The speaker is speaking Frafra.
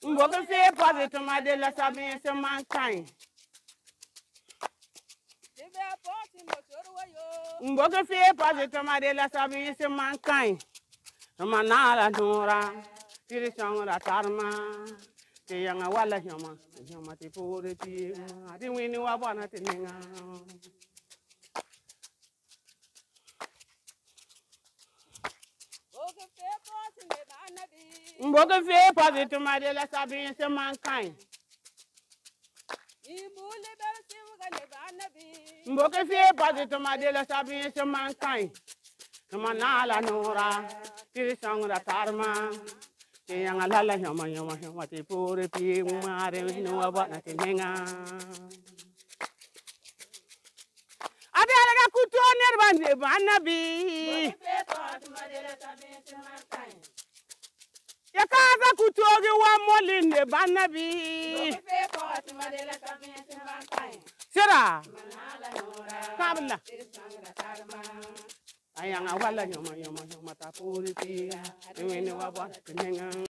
Mboke fe positive ma de la sabi se mankind. Mboke fe positive ma de la sabi se mankind. Manala nora, tiri songra tarma. Te yanga wala nyama te pore ti adi wini wa bona te ninga. Mboke fe positive ma de la sabi se mankind. Mboke fe positive ma de la sabi se mankind. Manala nora, tiri songra tarma. Te yanga lala nyama te pore ti mare wini wa bona te ninga. Ade alaga kuto nerbande banabi. Ya kaza kutogi wa molinde banabi. Sira. Kabla. Ayanga wala nyama ta puri ti wini wa bona te ninga.